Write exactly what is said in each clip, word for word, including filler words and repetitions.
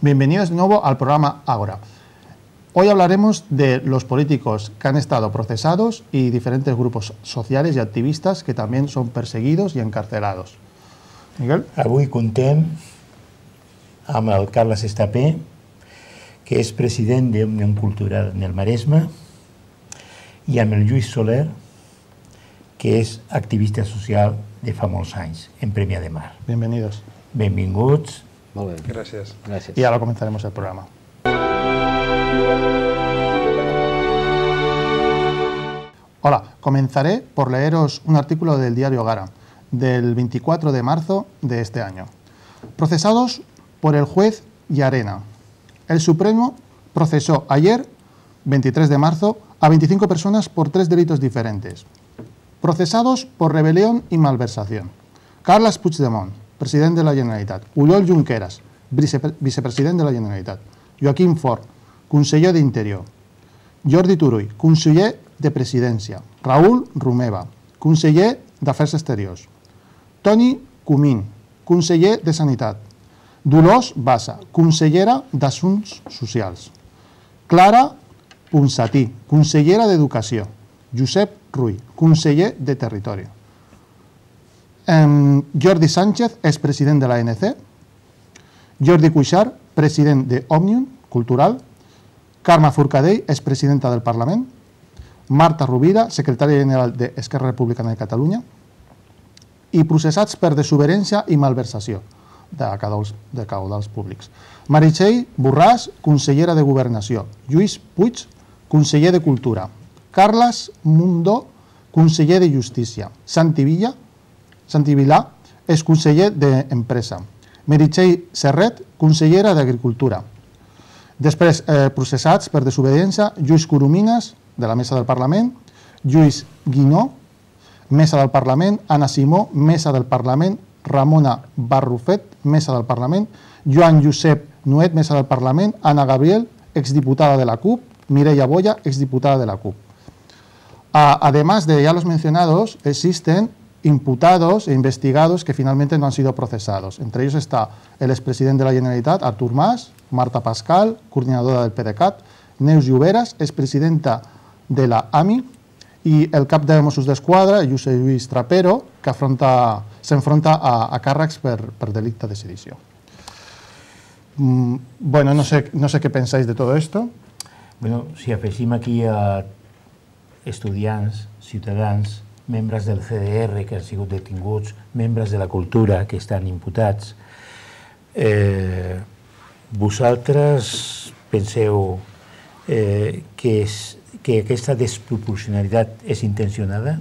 bienvenidos de nuevo al programa Ágora. Hoy hablaremos de los políticos que han estado procesados y diferentes grupos sociales y activistas que también son perseguidos y encarcelados. Miguel? Avui contem amb el Carles Estapé, que és president d'Òmnium Cultural en el Maresme, i amb el Lluís Soler, que és activista social de fa molts anys, en Premià de Mar. Bienvenidos. Benvinguts. Molt bé. Gràcies. Gràcies. Y ahora comenzaremos el programa. Hola, comenzaré por leeros un artículo del diario Gara, del veinticuatro de marzo de este año. Procesados por el juez Llarena. El Supremo procesó ayer, veintitrés de marzo, a veinticinco personas por tres delitos diferentes. Procesados por rebelión y malversación. Carles Puigdemont, president de la Generalitat. Oriol Junqueras, vicepre vicepresident de la Generalitat. Joaquim Forn, conseller d'Interior. Jordi Turull, conseller de Presidència. Raül Romeva, conseller d'Afers Exteriors. Toni Comín, conseller de Sanitat. Dolors Bassa, consellera d'Assumptes Socials. Clara Ponsatí, consellera d'Educació. Josep Rull, conseller de Territori. Um, Jordi Sánchez és president de l'A N C. Jordi Cuixart, president d'Òmnium Cultural. Carme Forcadell és presidenta del Parlament. Marta Rovira, secretària general d'Esquerra Republicana de Catalunya. I processats per desobediència i malversació de caudals, de caudals públics. Meritxell Borràs, consellera de Governació. Lluís Puig, conseller de Cultura. Carles Mundó, conseller de Justícia. Santi Villa, Santi Vilà és conseller d'Empresa. Meritxell Serret, consellera d'Agricultura. Després, eh, processats per desobediència, Lluís Coromines, de la Mesa del Parlament, Lluís Guinó, Mesa del Parlament, Anna Simó, Mesa del Parlament, Ramona Barrufet, Mesa del Parlament, Joan Josep Nuet, Mesa del Parlament, Ana Gabriel, exdiputada de la C U P, Mireia Boya, exdiputada de la C U P. Además de ya los mencionados, existen imputados e investigados que finalmente no han sido procesados. Entre ellos está el expresidente de la Generalitat, Artur Mas, Marta Pascal, coordinadora del PDeCAT, Neus Lloberas, expresidenta de la A M I, y el cap de Mossos d'Esquadra, Josep Lluís Trapero, que afronta, s'enfronta a, a càrrecs per, per delicte de sedició. Mm, bueno, no sé, no sé qué pensáis de todo esto. Bueno, si afegim aquí a estudiants, ciutadans, membres del C D R que han sigut detinguts, membres de la cultura que estan imputats, eh, vosaltres penseu eh, que, és, que aquesta desproporcionalitat és intencionada?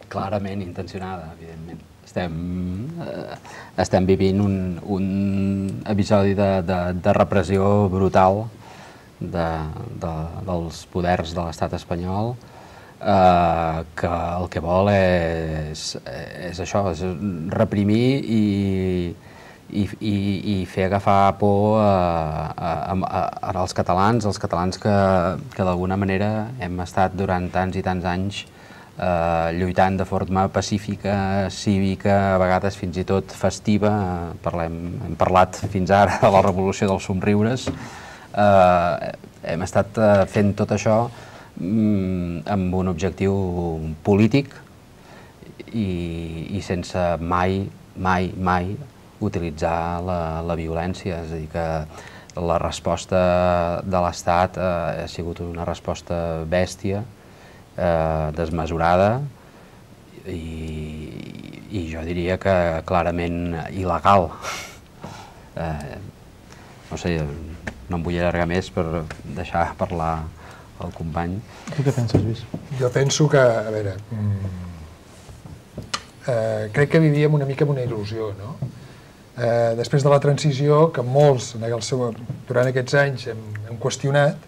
Clarament intencionada, evidentment. Estem, eh, estem vivint un, un episodi de, de, de repressió brutal de, de, dels poders de l'estat espanyol, eh, que el que vol és, és això, és reprimir i, i, i, i fer agafar por a, a, a, als catalans, als catalans que, que d'alguna manera hem estat durant tants i tants anys eh, lluitant de forma pacífica, cívica, a vegades fins i tot festiva. Parlem, hem parlat fins ara de la revolució dels somriures. Uh, hem estat uh, fent tot això um, amb un objectiu polític i, i sense mai, mai, mai utilitzar la, la violència. És a dir, que la resposta de l'Estat uh, ha sigut una resposta bèstia, uh, desmesurada i, i jo diria que clarament il·legal. Uh, no sé, no em vull allargar més per deixar parlar el company. Tu què penses, Lluís? Jo penso que, a veure, eh, crec que vivíem una mica amb una il·lusió, no? Eh, després de la transició, que molts en el seu, durant aquests anys hem, hem qüestionat,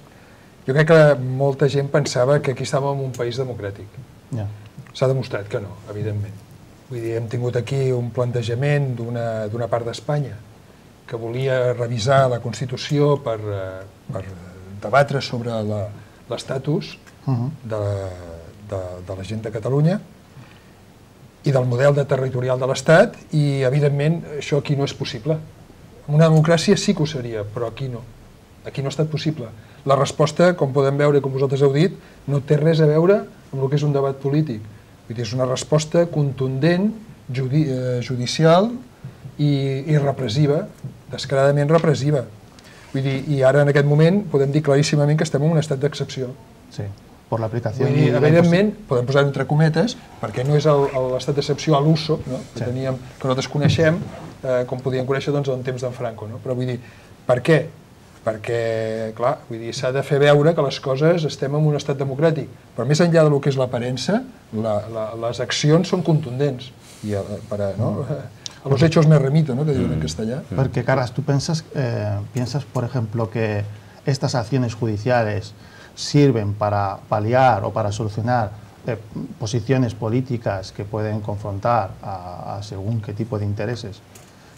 jo crec que molta gent pensava que aquí estàvem en un país democràtic. Ja. S'ha demostrat que no, evidentment. Vull dir, hem tingut aquí un plantejament d'una part d'Espanya que volia revisar la Constitució per, per debatre sobre la, l'estatus uh-huh. de, de, de la gent de Catalunya, i del model de territorial de l'Estat, i evidentment això aquí no és possible. En una democràcia sí que ho seria, però aquí no. Aquí no ha estat possible. La resposta, com podem veure i com vosaltres heu dit, no té res a veure amb el que és un debat polític. Vull dir, és una resposta contundent, judi eh, judicial i, i repressiva, descaradament repressiva. Vull dir, i ara en aquest moment podem dir claríssimament que estem en un estat d'excepció. Sí, per l'aplicació... Vull dir, evidentment, podem posar entre cometes, perquè no és l'estat d'excepció a l'uso, no? que, teníem, que nosaltres coneixem, eh, com podíem conèixer doncs, en temps d'en Franco. No? Però vull dir, per què? Perquè, clar, vull dir, s'ha de fer veure que les coses estem en un estat democràtic. Però més enllà del que és l'aparença, la, la, les accions són contundents. I a, per a, no? a los hechos me remito, ¿no? que diuen en castellà. Porque, Carles, ¿tú piensas, eh, piensas, por ejemplo, que estas acciones judiciales sirven para paliar o para solucionar eh, posiciones políticas que pueden confrontar a, a según qué tipo de intereses?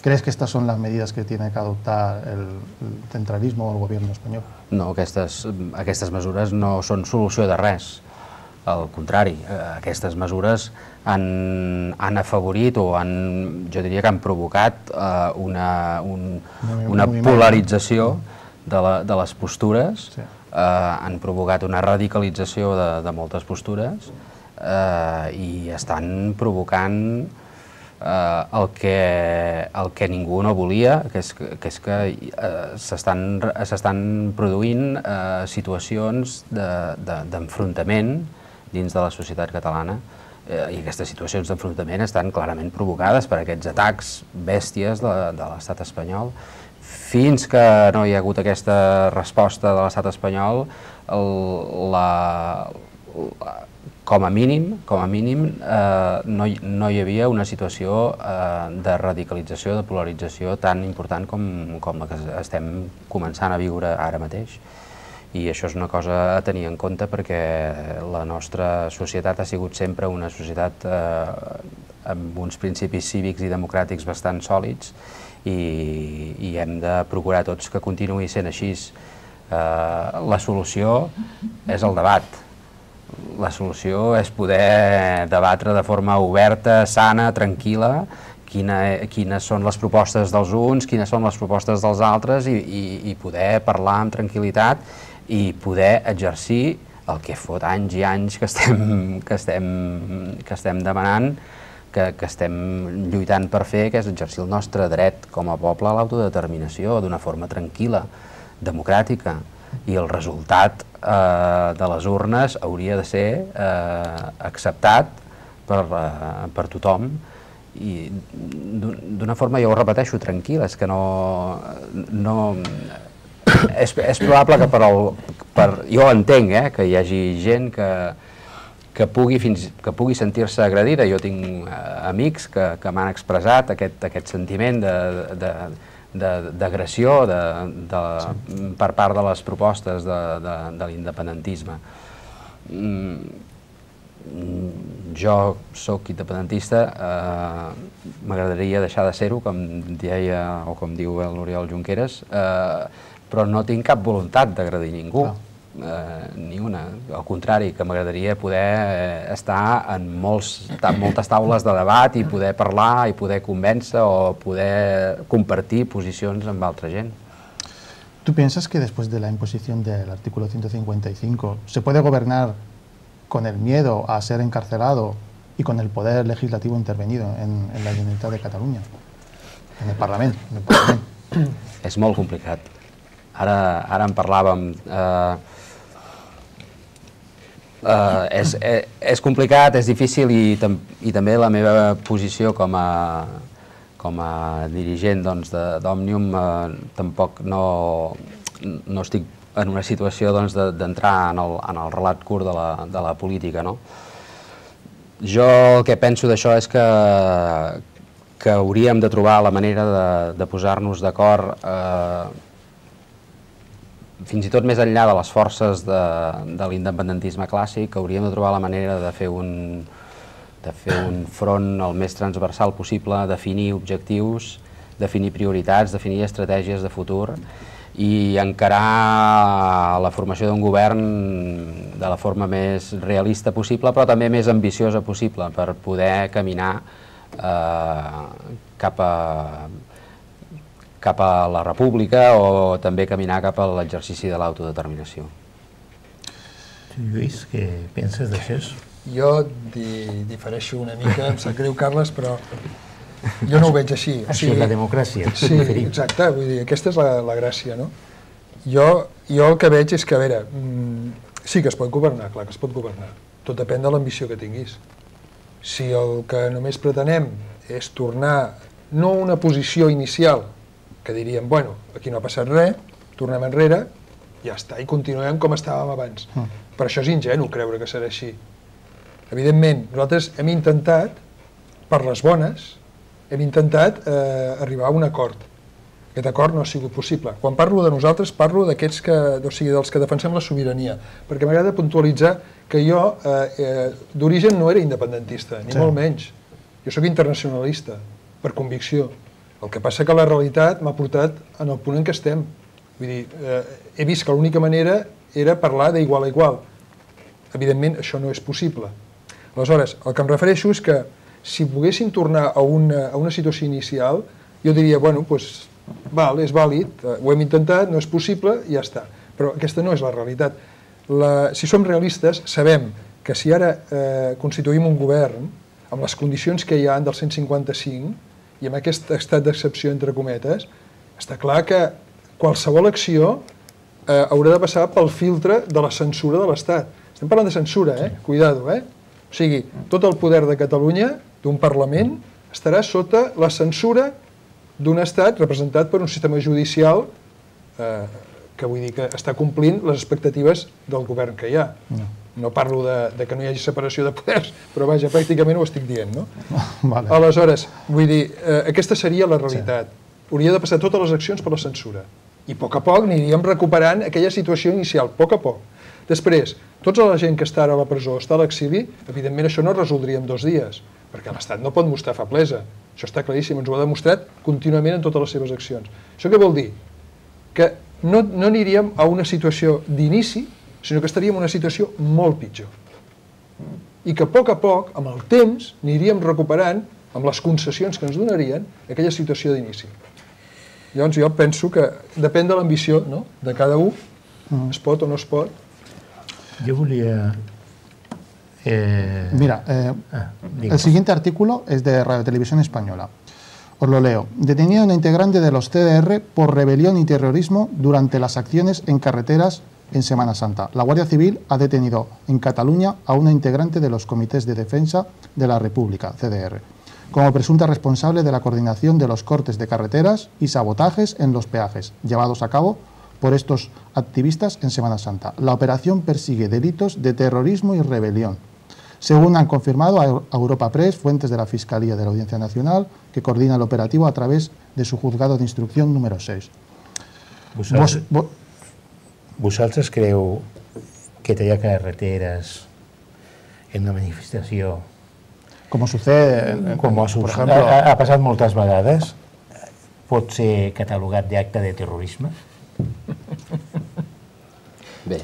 ¿Crees que estas son las medidas que tiene que adoptar el, el centralismo o el gobierno espanyol? No, aquestes, aquestes mesures no són solució de res. Al contrari, aquestes mesures han, han afavorit o han, jo diria que han provocat uh, una, un, una polarització de, la, de les postures, sí. uh, han provocat una radicalització de, de moltes postures uh, i estan provocant Uh, el, que, el que ningú no volia, que és que, que, és que uh, s'estan produint uh, situacions d'enfrontament de, dins de la societat catalana uh, i aquestes situacions d'enfrontament estan clarament provocades per aquests atacs bèsties de, de l'estat espanyol. Fins que no hi ha hagut aquesta resposta de l'estat espanyol, el, la, la com a mínim, com a mínim eh, no, hi, no hi havia una situació eh, de radicalització, de polarització tan important com, com la que estem començant a viure ara mateix. I això és una cosa a tenir en compte perquè la nostra societat ha sigut sempre una societat eh, amb uns principis cívics i democràtics bastant sòlids i, i hem de procurar tots que continuï sent així. Eh, la solució és el debat. La solució és poder debatre de forma oberta, sana, tranquil·la, quina, quines són les propostes dels uns, quines són les propostes dels altres i, i, i poder parlar amb tranquil·litat i poder exercir el que fot anys i anys que estem, que estem, que estem demanant, que, que estem lluitant per fer, que és exercir el nostre dret com a poble a l'autodeterminació d'una forma tranquil·la, democràtica. I el resultat eh, de les urnes hauria de ser eh, acceptat per, eh, per tothom i d'una forma, jo ho repeteixo, tranquil·la, és que no... no és, és probable que per, el, per... Jo entenc eh, que hi hagi gent que, que pugui, fins, que pugui sentir-se agredida. Jo tinc eh, amics que, que m'han expressat aquest, aquest sentiment de... de d'agressió de, de, sí. per part de les propostes de, de, de l'independentisme. Jo sóc independentista, eh, m'agradaria deixar de ser-ho, com deia o com diu l'Oriol Junqueras, eh, però no tinc cap voluntat d'agredir ningú. Ah. Eh, ni una. Al contrari, que m'agradaria poder estar en molts, moltes taules de debat i poder parlar i poder convèncer o poder compartir posicions amb altra gent. ¿Tú piensas que después de la imposición del artículo ciento cincuenta y cinco se puede gobernar con el miedo a ser encarcelado y con el poder legislativo intervenido en, en la Generalitat de Catalunya, en el Parlament? En el Parlament? És molt complicat. Ara, ara en parlàvem... Eh, Uh, és, és, és complicat, és difícil i, tam, i també la meva posició com a, com a dirigent doncs, d'Òmnium uh, tampoc no, no estic en una situació d'entrar doncs, en, el, en el relat curt de la, de la política. No? Jo el que penso d'això és que, que hauríem de trobar la manera de, de posar-nos d'acord eh, fins i tot més enllà de les forces de, de l'independentisme clàssic, hauríem de trobar la manera de fer un, de fer un front el més transversal possible, definir objectius, definir prioritats, definir estratègies de futur i encarar la formació d'un govern de la forma més realista possible, però també més ambiciosa possible, per poder caminar eh, cap a cap a la república o també caminar cap a l'exercici de l'autodeterminació. Lluís, què penses d'això? Jo di difereixo una mica, em sap greu, Carles, però jo no ho veig així. Això és la democràcia. Sí, exacte, vull dir, aquesta és la, la gràcia, no? Jo, jo el que veig és que, a veure, sí que es pot governar, clar que es pot governar. Tot depèn de l'ambició que tinguis. Si el que només pretenem és tornar, no a una posició inicial, que diríem, bueno, aquí no ha passat res, tornem enrere, ja està, i continuem com estàvem abans. Mm. Per això és ingenu creure que serà així. Evidentment, nosaltres hem intentat, per les bones, hem intentat eh, arribar a un acord. Aquest acord no ha sigut possible. Quan parlo de nosaltres, parlo d'aquests que, o sigui, dels que defensem la sobirania, perquè m'agrada puntualitzar que jo eh, eh, d'origen no era independentista, ni sí. molt menys. Jo sóc internacionalista, per convicció. El que passa que la realitat m'ha portat en el punt en què estem. Vull dir, eh, he vist que l'única manera era parlar d'igual a igual. Evidentment, això no és possible. Aleshores, el que em refereixo és que si poguéssim tornar a una, a una situació inicial, jo diria, bueno, doncs, val, és vàlid, ho hem intentat, no és possible, i ja està. Però aquesta no és la realitat. La, si som realistes, sabem que si ara eh, constituïm un govern amb les condicions que hi ha del cent cinquanta-cinc, i amb aquest estat d'excepció, entre cometes, està clar que qualsevol acció eh, haurà de passar pel filtre de la censura de l'Estat. Estem parlant de censura, eh? Cuidado, eh? O sigui, tot el poder de Catalunya, d'un Parlament, estarà sota la censura d'un Estat representat per un sistema judicial eh, que vull dir que està complint les expectatives del govern que hi ha. No. No parlo de, de que no hi hagi separació de poders, però vaja, pràcticament ho estic dient, no? Vale. Aleshores, vull dir, eh, aquesta seria la realitat. Sí. Hauria de passar totes les accions per la censura. I a poc a poc aniríem recuperant aquella situació inicial, a poc a poc. Després, tota la gent que està ara a la presó, està a l'exili, evidentment això no es resoldria en dos dies, perquè l'Estat no pot mostrar feblesa. Això està claríssim, ens ho ha demostrat contínuament en totes les seves accions. Això què vol dir? Que no, no aniríem a una situació d'inici, sinó que estaríem en una situació molt pitjor. I que a poc a poc, amb el temps, aniríem recuperant, amb les concessions que ens donarien, aquella situació d'inici. Llavors jo penso que depèn de l'ambició, no?, de cada un, es pot o no es pot. Jo volia... Eh... Mira, eh, ah, el siguiente artículo es de Radio Televisión Española. Os lo leo. Detenida una integrante de los C D R por rebelión y terrorismo durante las acciones en carreteras en Semana Santa. La Guardia Civil ha detenido en Cataluña a una integrante de los Comités de Defensa de la República, C D R, como presunta responsable de la coordinación de los cortes de carreteras y sabotajes en los peajes, llevados a cabo por estos activistas en Semana Santa. La operación persigue delitos de terrorismo y rebelión, según han confirmado a Europa Press fuentes de la Fiscalía de la Audiencia Nacional, que coordina el operativo a través de su juzgado de instrucción número seis. Vos, vos, Vosaltres creu que tallar carreteres en una manifestació, com sucede, en, com ha, por ejemplo, ha, ha passat moltes vegades, pot ser catalogat d'acte de terrorisme? Bé.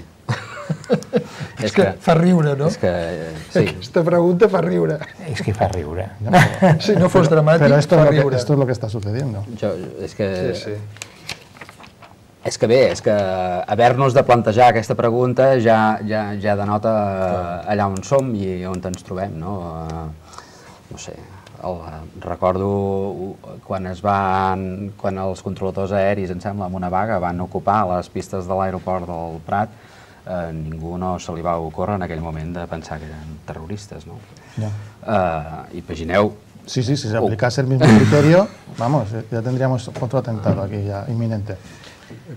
És que fa riure, no? És que, sí. Aquesta pregunta fa riure. És que fa riure. Si no fos dramàtic, Pero esto fa es lo riure. Que, esto es lo que está sucediendo. Jo, és que... Sí, sí. És que bé, és que haver-nos de plantejar aquesta pregunta ja, ja, ja denota allà on som i on ens trobem, no? No sé, el, recordo quan es van, quan els controladors aeris, em sembla, amb una vaga, van ocupar les pistes de l'aeroport del Prat, eh, ningú no se li va ocórrer en aquell moment de pensar que eren terroristes, no? Ja. Eh, imagineu... Sí, sí, si se aplicase el mismo criterio, vamos, ya tendríamos otro atentado aquí ya inminente.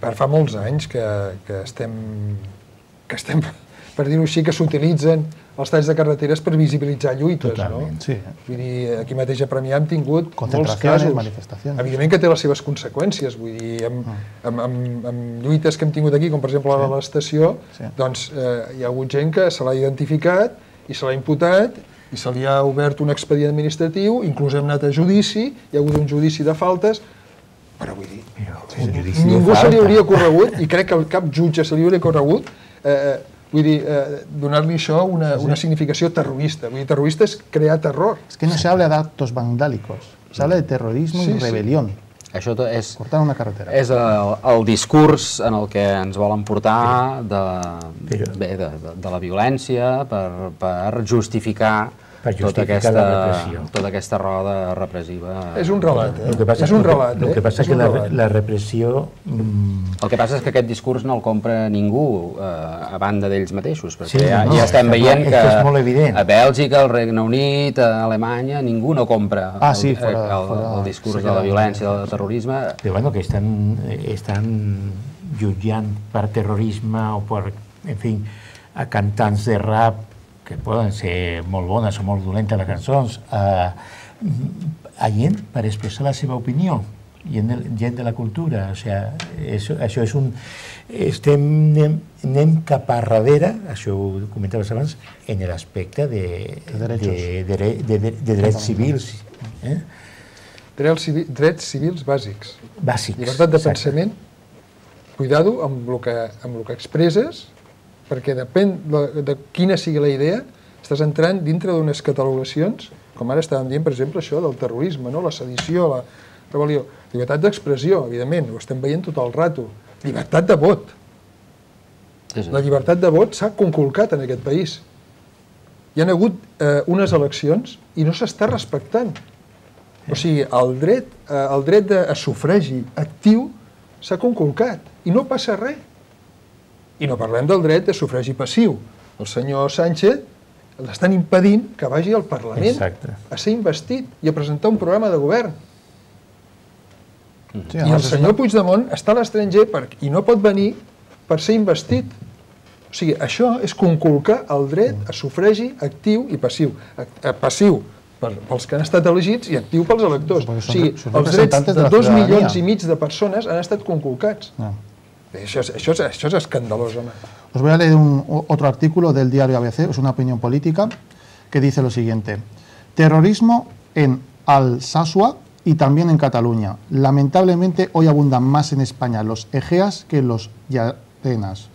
Fa molts anys que, que estem, que estem, per dir-ho així, que s'utilitzen els talls de carreteres per visibilitzar lluites, Totalment, no? Sí. Vull dir, aquí mateix a Premià hem tingut molts casos. Evidentment que té les seves conseqüències, vull dir, amb, amb, amb, amb lluites que hem tingut aquí, com per exemple la de l'estació, sí. doncs eh, hi ha hagut gent que se l'ha identificat i se l'ha imputat i se li ha obert un expedient administratiu, inclús hem anat a judici, hi ha hagut un judici de faltes. Però vull dir, un judici de ningú se li falta. hauria corregut, i crec que cap jutge se li hauria corregut, eh, vull dir, eh, donar-li això una, una significació terrorista. Vull dir, terrorista és crear terror. Es que no se habla de actos vandálicos, se habla de terrorismo Sí, y sí. rebelión. Això to- és, Cortar una carretera. és el, el discurs en el que ens volen portar de, Però- bé, de, de, de la violència per, per justificar, Per tota, justificar aquesta, la repressió. tota aquesta roda repressiva. És un relat, eh? El que passa és un que- relat, eh? El que passa És que un la, relat. la repressió... mm, El que passa és que aquest discurs no el compra ningú eh, a banda d'ells mateixos, perquè Sí, ja, no, ja estem és que veient és que, que és molt evident. a Bèlgica, al Regne Unit, a Alemanya, ningú no compra Ah, sí, el, fora- el, fora- el discurs sí que de la era- violència, del terrorisme. Però bueno, que estan, estan jutjant per terrorisme o per, en fi, a cantants de rap que poden ser molt bones o molt dolentes les cançons, a, a gent per expressar la seva opinió, gent de, gent de la cultura. O sigui, això, això és un... Estem, anem, anem cap a darrere, això ho comentaves abans, en l'aspecte de, De derechos. de, de, de, de, de drets civils. Eh? Drets, civi, drets civils bàsics. Bàsics. Llibertat de exacte. pensament, cuidado amb el que, amb el que expresses, perquè depèn de, de quina sigui la idea, estàs entrant dintre d'unes catalogacions, com ara estàvem dient, per exemple, això del terrorisme, no? La sedició, la rebel·lió. Llibertat d'expressió, evidentment, ho estem veient tot el rato. Llibertat de vot. Sí, sí. La llibertat de vot s'ha conculcat en aquest país. Hi ha hagut eh, unes eleccions i no s'està respectant. O sigui, el dret, eh, el dret de a sufragi actiu s'ha conculcat i no passa res. I no parlem del dret de sufragi passiu. El senyor Sánchez l'estan impedint que vagi al Parlament Exacte. a ser investit i a presentar un programa de govern. Sí, I el además es senyor Puigdemont està a l'estranger per- i no pot venir per ser investit. O sigui, això és conculcar el dret a sufragi actiu i passiu. Ac- eh, Passiu per, pels que han estat elegits i actiu pels electors. Porque O son- sigui, son els drets representantes de de la dos ciudadanía. milions i mig de persones han estat conculcats. No. Això és, això és, això és escandalós, home. Os voy a leer un, o- otro artículo del diario A B C, es una opinión política, que dice lo siguiente. Terrorismo en Alsasua y también en Cataluña. Lamentablemente hoy abundan más en España los Egeas que los Llarenas.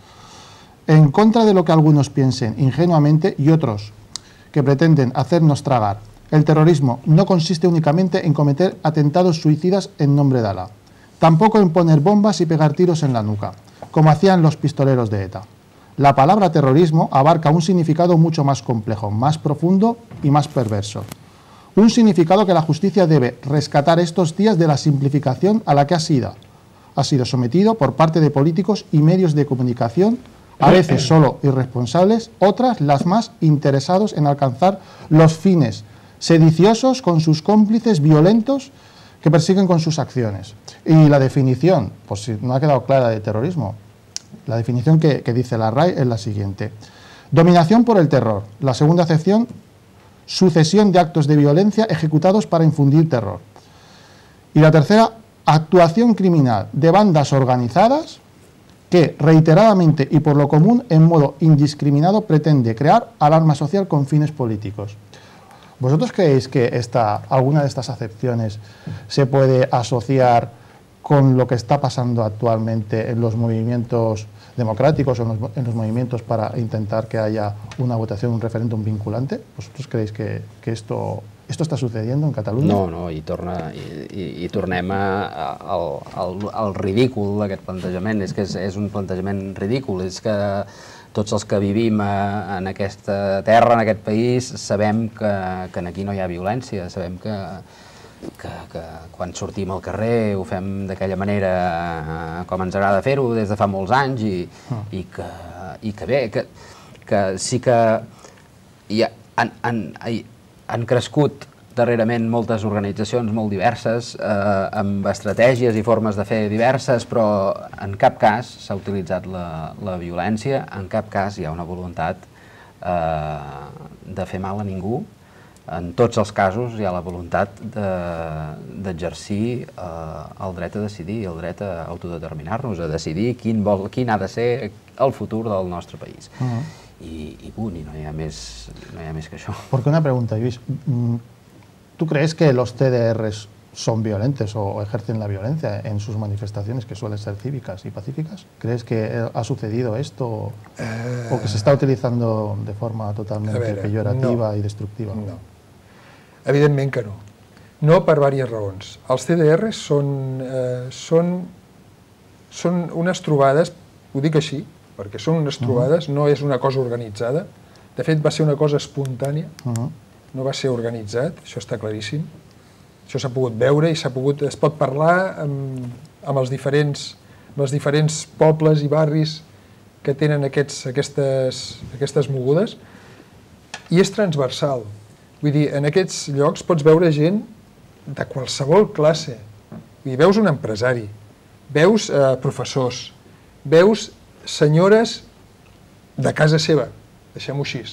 En contra de lo que algunos piensen ingenuamente y otros que pretenden hacernos tragar, el terrorismo no consiste únicamente en cometer atentados suicidas en nombre de Alá. Tampoco en poner bombas y pegar tiros en la nuca, como hacían los pistoleros de ETA. La palabra terrorismo abarca un significado mucho más complejo, más profundo y más perverso. Un significado que la justicia debe rescatar estos días de la simplificación a la que ha sido, ha sido sometido por parte de políticos y medios de comunicación, a veces solo irresponsables, otras las más interesados en alcanzar los fines sediciosos con sus cómplices violentos que persiguen con sus acciones. Y la definición, pues si no ha quedado clara de terrorismo, la definición que, que dice la R A E es la siguiente. Dominación por el terror. La segunda acepción, sucesión de actos de violencia ejecutados para infundir terror. Y la tercera, actuación criminal de bandas organizadas que reiteradamente y por lo común en modo indiscriminado pretende crear alarma social con fines políticos. ¿Vosotros creéis que esta, alguna de estas acepciones se puede asociar con lo que está pasando actualmente en los movimientos democráticos o en los, en los movimientos para intentar que haya una votación, un referéndum vinculante? ¿Vosotros creéis que, que esto, esto está sucediendo en Catalunya? No, no, i, torna, i, i, i tornem a, a, al, al, al ridícul d'aquest plantejament. És que és, és un plantejament ridícul. És que tots els que vivim a, en aquesta terra, en aquest país, sabem que, que aquí no hi ha violència, sabem que, que, que quan sortim al carrer ho fem d'aquella manera eh, com ens agrada fer-ho des de fa molts anys i, Ah. i, que, i que bé, que, que sí que hi ha, han, han, han crescut darrerament moltes organitzacions molt diverses, eh, amb estratègies i formes de fer diverses, però en cap cas s'ha utilitzat la, la violència, en cap cas hi ha una voluntat eh, de fer mal a ningú. En tots els casos hi ha la voluntat d'exercir eh, el dret a decidir, el dret a autodeterminar-nos, a decidir quin, vol, quin ha de ser el futur del nostre país. Uh-huh. I, i punt, i no hi ha més, no hi ha més que això. Porque una pregunta, Luis. ¿Tú crees que los T D Rs son violentes o ejercen la violencia en sus manifestaciones, que suelen ser cívicas y pacíficas? ¿Crees que ha sucedido esto eh... o que se está utilizando de forma totalmente veure, peyorativa no, i destructiva? No, evidentment que no. No per diverses raons. Els C D Rs són, eh, són, són unes trobades, ho dic així, perquè són unes trobades, uh -huh. no és una cosa organitzada. De fet, va ser una cosa espontània, uh -huh. no va ser organitzat, això està claríssim. Això s'ha pogut veure i s'ha pogut, es pot parlar amb, amb, els diferents, amb els diferents pobles i barris que tenen aquests, aquestes, aquestes mogudes, i és transversal. Vull dir, en aquests llocs pots veure gent de qualsevol classe. Vull dir, veus un empresari, veus eh, professors, veus senyores de casa seva, deixem-ho així.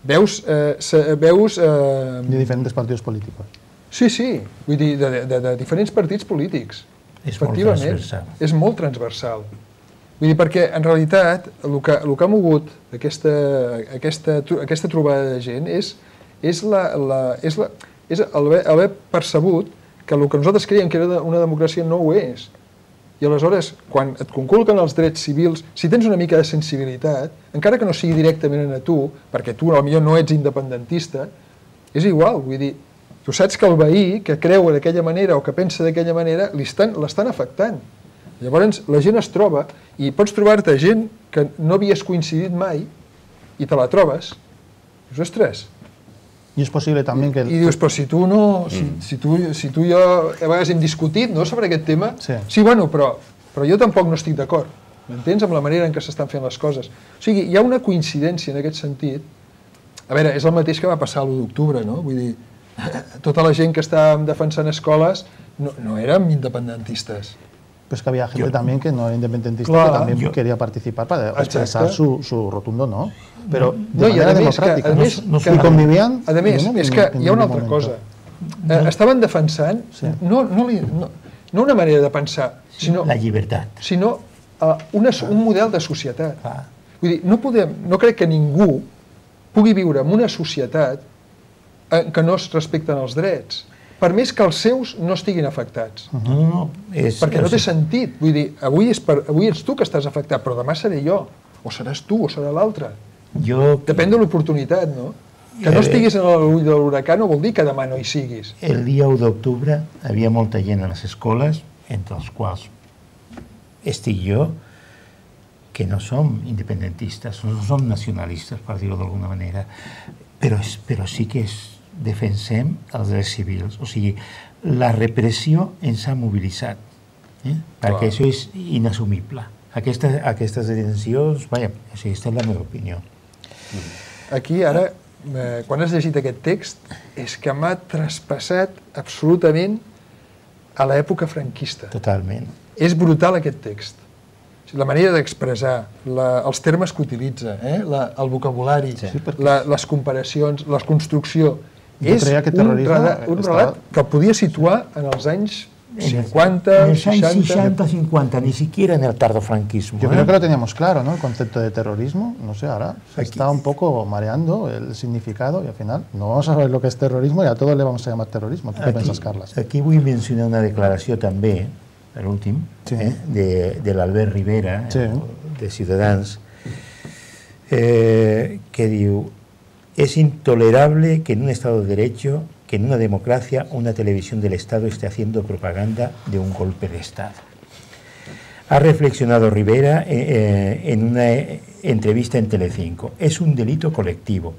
Veus... Eh, se, veus eh... de diferents partits polítics. Sí, sí, vull dir, de, de, de diferents partits polítics. És molt transversal. És molt transversal. Vull dir, perquè en realitat el que, el que ha mogut aquesta, aquesta, aquesta trobada de gent és, és, la, la, és, la, és haver, haver percebut que el que nosaltres creiem que era una democràcia no ho és. I aleshores, quan et conculquen els drets civils, si tens una mica de sensibilitat, encara que no sigui directament a tu, perquè tu potser no ets independentista, és igual, vull dir, tu saps que el veí que creu d'aquella manera o que pensa d'aquella manera l'estan afectant. Llavors la gent es troba i pots trobar-te gent que no havies coincidit mai i te la trobes. Dius, ostres. I és possible també que... I dius, però si tu no... Si, mm. si, tu, si tu i jo a vegades hem discutit no, sobre aquest tema, sí, sí bueno, però, però jo tampoc no estic d'acord. M'entens? Amb la manera en què s'estan fent les coses. O sigui, hi ha una coincidència en aquest sentit. A veure, és el mateix que va passar l'u d'octubre, no? Vull dir, tota la gent que estàvem defensant escoles no, no érem independentistes. Però és que havia gent també que no era independentista, clar, que també jo... queria participar per expressar su, su rotundo no. Però de no, manera a democràtica. Que, a més, no, no que, convivien... A més, no, és que hi ha una altra cosa. Eh, estaven defensant sí. no, no, no, no una manera de pensar, sinó... La llibertat. Sinó uh, una, un model de societat. Ah. Vull dir, no, podem, no crec que ningú pugui viure en una societat en què no es respecten els drets, per més que els seus no estiguin afectats. No, no, no. És, perquè no té sentit. Vull dir, avui, és per, avui ets tu que estàs afectat, però demà seré jo. O seràs tu, o serà l'altre. Jo... Depèn de l'oportunitat, no? Que no estiguis en l'ull de l'huracà no vol dir que demà no hi siguis. El dia u d'octubre havia molta gent a les escoles, entre els quals estic jo, que no som independentistes, no som nacionalistes, per dir-ho d'alguna manera, però, però sí que és, defensem els drets civils. O sigui, la repressió ens ha mobilitzat, eh? perquè Clar. Això és inassumible. Aquestes, aquestes detencions, vaja, aquesta és la meva opinió. Aquí, ara, eh, quan has llegit aquest text, és que m'ha traspassat absolutament a l'època franquista. Totalment. És brutal aquest text. La manera d'expressar, els termes que utilitza, eh? la, el vocabulari, sí, la, les comparacions, la construcció. Jo és que un, relat, un relat que el podia situar en els anys cincuenta, en els anys seixanta, cincuenta, ni siquiera en el tardofranquismo. Yo ¿eh? creo que lo teníamos claro, ¿no? El concepto de terrorismo, no sé, ahora se Aquí. está un poco mareando el significado y al final no vamos a saber lo que es terrorismo y a todos le vamos a llamar terrorismo. ¿Tú qué piensas, Carles? Aquí vull mencionar una declaració també, l'últim, sí. eh? de, de l'Albert Rivera, sí. eh? de Ciutadans, eh, que diu: es intolerable que en un Estado de Derecho, que en una democracia, una televisión del Estado esté haciendo propaganda de un golpe de Estado. Ha reflexionado Rivera eh, en una entrevista en Telecinco. Es un delito colectivo.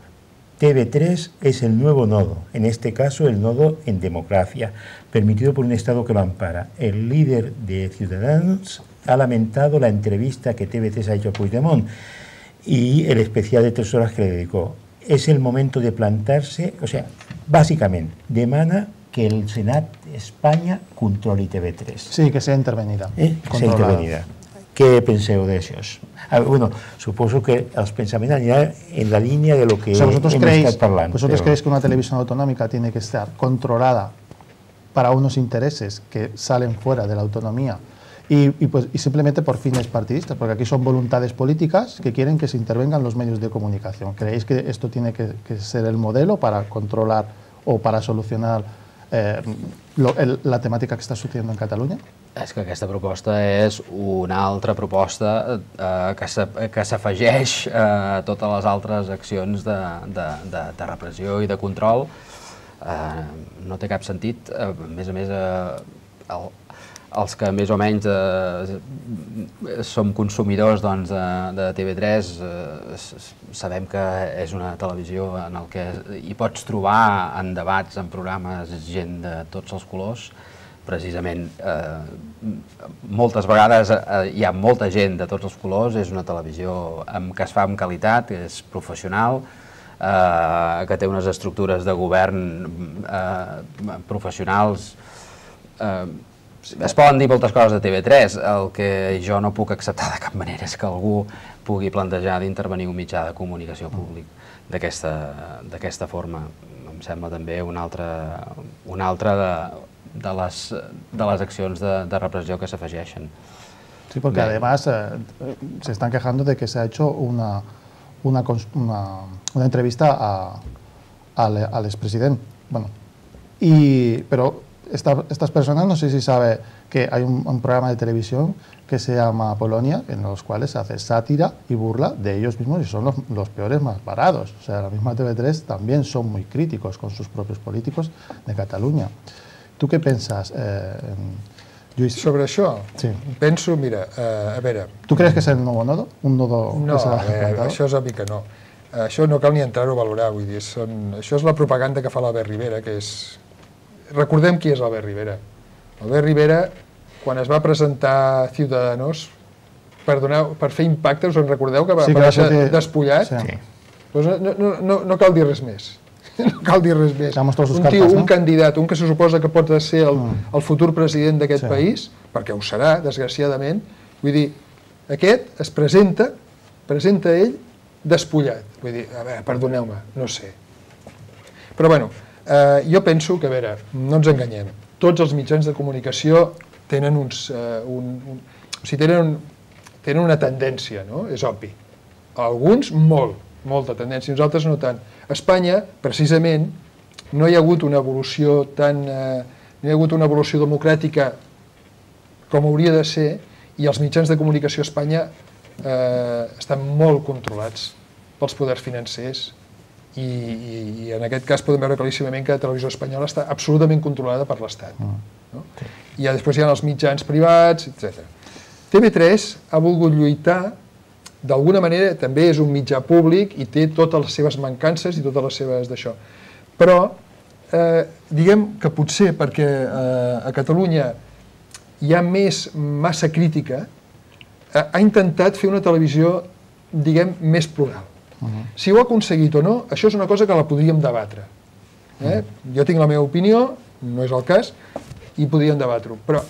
T V tres es el nuevo nodo, en este caso el nodo en democracia, permitido por un Estado que lo ampara. El líder de Ciudadanos ha lamentado la entrevista que T V tres ha hecho a Puigdemont y el especial de tres horas que le dedicó. Es el momento de plantarse, o sea, bàsicament, demana que el Senat d'Espanya controli T V tres. Sí, que sea intervenida. Eh? Que sea intervenida. Què penseu d'això? Bueno, suposo que els pensaments aniran en la línia de lo que o sea, vosotros hemos creéis, estat parlant. ¿Vosotros pero... creéis que una televisión autonómica tiene que estar controlada para unos intereses que salen fuera de la autonomía y, y, pues, y simplemente por fines partidistas? Porque aquí son voluntades políticas que quieren que se intervengan los medios de comunicación. ¿Creéis que esto tiene que, que ser el modelo para controlar o para solucionar eh, lo, el, la temàtica que està sucediendo en Catalunya? És que aquesta proposta és una altra proposta eh, que s'afegeix a totes les altres accions de, de, de, de repressió i de control. Eh, no té cap sentit. Eh, a més a més, eh, el, els que més o menys eh, som consumidors doncs, de, de T V tres eh, sabem que és una televisió en el que hi pots trobar en debats, en programes, gent de tots els colors. Precisament, eh, moltes vegades eh, hi ha molta gent de tots els colors, és una televisió amb, que es fa amb qualitat, que és professional, eh, que té unes estructures de govern eh, professionals. Eh, Es poden dir moltes coses de T V tres, el que jo no puc acceptar de cap manera és que algú pugui plantejar d'intervenir un mitjà de comunicació públic d'aquesta forma. Em sembla també una altra, una altra de, de, les, de les accions de, de repressió que s'afegeixen. Sí, porque Bé. además eh, se están quejando de que se ha hecho una, una, una, una entrevista a, a, al expresidente. Bueno, y, pero Esta, estas personas, no sé si sabe que hay un, un programa de televisión que se llama Polonia, en los cuales se hace sátira y burla de ellos mismos y son los, los peores más parados. O sea, la misma T V tres también son muy críticos con sus propios políticos de Catalunya. ¿Tú qué piensas, eh, Lluís? Sobre això? Sí. Penso, mira, eh, a veure... ¿Tú crees que es el nuevo nodo? Un nodo no, que s'ha eh, això és obvi que no. Això no cal ni entrar-ho a valorar, vull dir, són, això és la propaganda que fa l'Albert Rivera, que és... Recordem qui és l'Albert Rivera. L'Albert Rivera, quan es va presentar Ciudadanos, per, donar, per fer impacte, us en recordeu que va sí, aparèixer que... despullat? Sí. Doncs no, no, no, no cal dir res més. No cal dir res més. Un cartes, tio, no? un candidat, un que se suposa que pot ser el, mm. el futur president d'aquest sí. país, perquè ho serà, desgraciadament, vull dir, aquest es presenta, presenta ell despullat. Vull dir, a veure, perdoneu-me, no sé. Però bueno, Uh, jo penso que, a veure, no ens enganyem, tots els mitjans de comunicació tenen uns... Uh, un, un, o sigui, tenen, tenen una tendència, no? És obvi. Alguns, molt, molta tendència, nosaltres no tant. A Espanya, precisament, no hi ha hagut una evolució tan... Uh, no hi ha hagut una evolució democràtica com hauria de ser, i els mitjans de comunicació a Espanya uh, estan molt controlats pels poders financers, I, i, i en aquest cas podem veure claríssimament que la televisió espanyola està absolutament controlada per l'Estat. No? I ja després hi ha els mitjans privats, etcètera. T V tres ha volgut lluitar, d'alguna manera també és un mitjà públic i té totes les seves mancances i totes les seves d'això. Però eh, diguem que potser perquè eh, a Catalunya hi ha més massa crítica, eh, ha intentat fer una televisió, diguem, més plural. Uh-huh. Si ho ha aconseguit o no, això és una cosa que la podríem debatre. Eh? Uh-huh. Jo tinc la meva opinió, no és el cas, i podríem debatre-ho. Però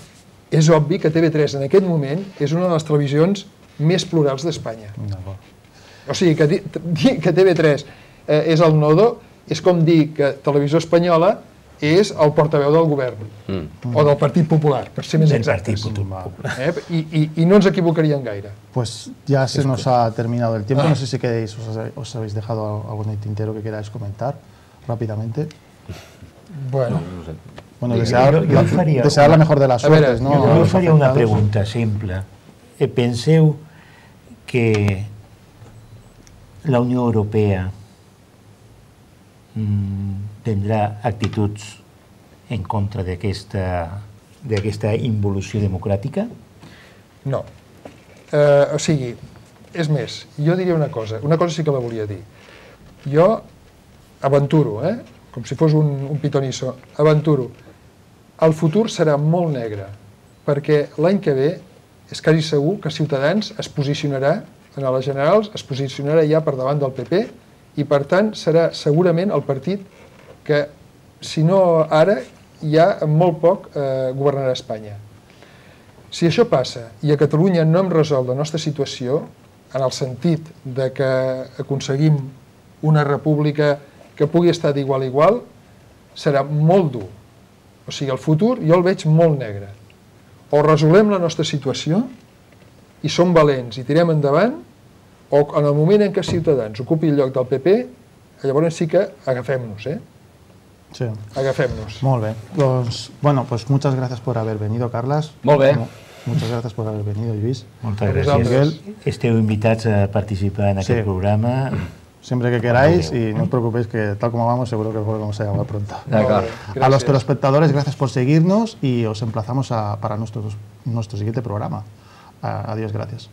és obvi que T V tres en aquest moment és una de les televisions més plurals d'Espanya. Uh-huh. O sigui, que dir que T V tres eh, és el nodo és com dir que Televisió Espanyola és el portaveu del govern, mm. o del Partit Popular, per ser més exactes. Eh? I, y, y no ens equivocaríem gaire. Pues ya se nos ha terminado el tiempo, ah. no sé si queréis, os, os habéis dejado algún tintero que queráis comentar rápidamente. Bueno, no, no sé. Bueno, desear, jo, jo faria desear una, la mejor de las suertes, ¿no? Jo, jo faria una pregunta simple. Eh, penseu que la Unió Europea tindrà actituds en contra d'aquesta involució democràtica? No. Eh, o sigui, és més, jo diria una cosa, una cosa sí que la volia dir. Jo aventuro, eh? com si fos un, un pitonisso, aventuro. El futur serà molt negre, perquè l'any que ve és quasi segur que Ciutadans es posicionarà, en les generals, es posicionarà ja per davant del P P, i per tant serà segurament el partit que, si no ara, ja en molt poc eh, governarà Espanya. Si això passa i a Catalunya no hem resolt la nostra situació, en el sentit de que aconseguim una república que pugui estar d'igual a igual, serà molt dur. O sigui, el futur jo el veig molt negre. O resolem la nostra situació i som valents i tirem endavant, o en el moment en què Ciutadans ocupi el lloc del P P, llavors sí que agafem-nos, eh? Sí. Agafem-nos. Molt bé. Pues, bueno, pues muchas gracias por haber venido, Carles. Molt bé. Muchas gracias por haber venido, Lluís. Moltes A gràcies. vosaltres. Esteu invitats a participar en aquest Sí. programa. Siempre que queráis y no os preocupéis que tal como vamos seguro que volvemos a llamar pronto. D'acord. A los telespectadores, gracias por seguirnos y os emplazamos a- para nuestro, nuestro siguiente programa. A- Adiós, gracias.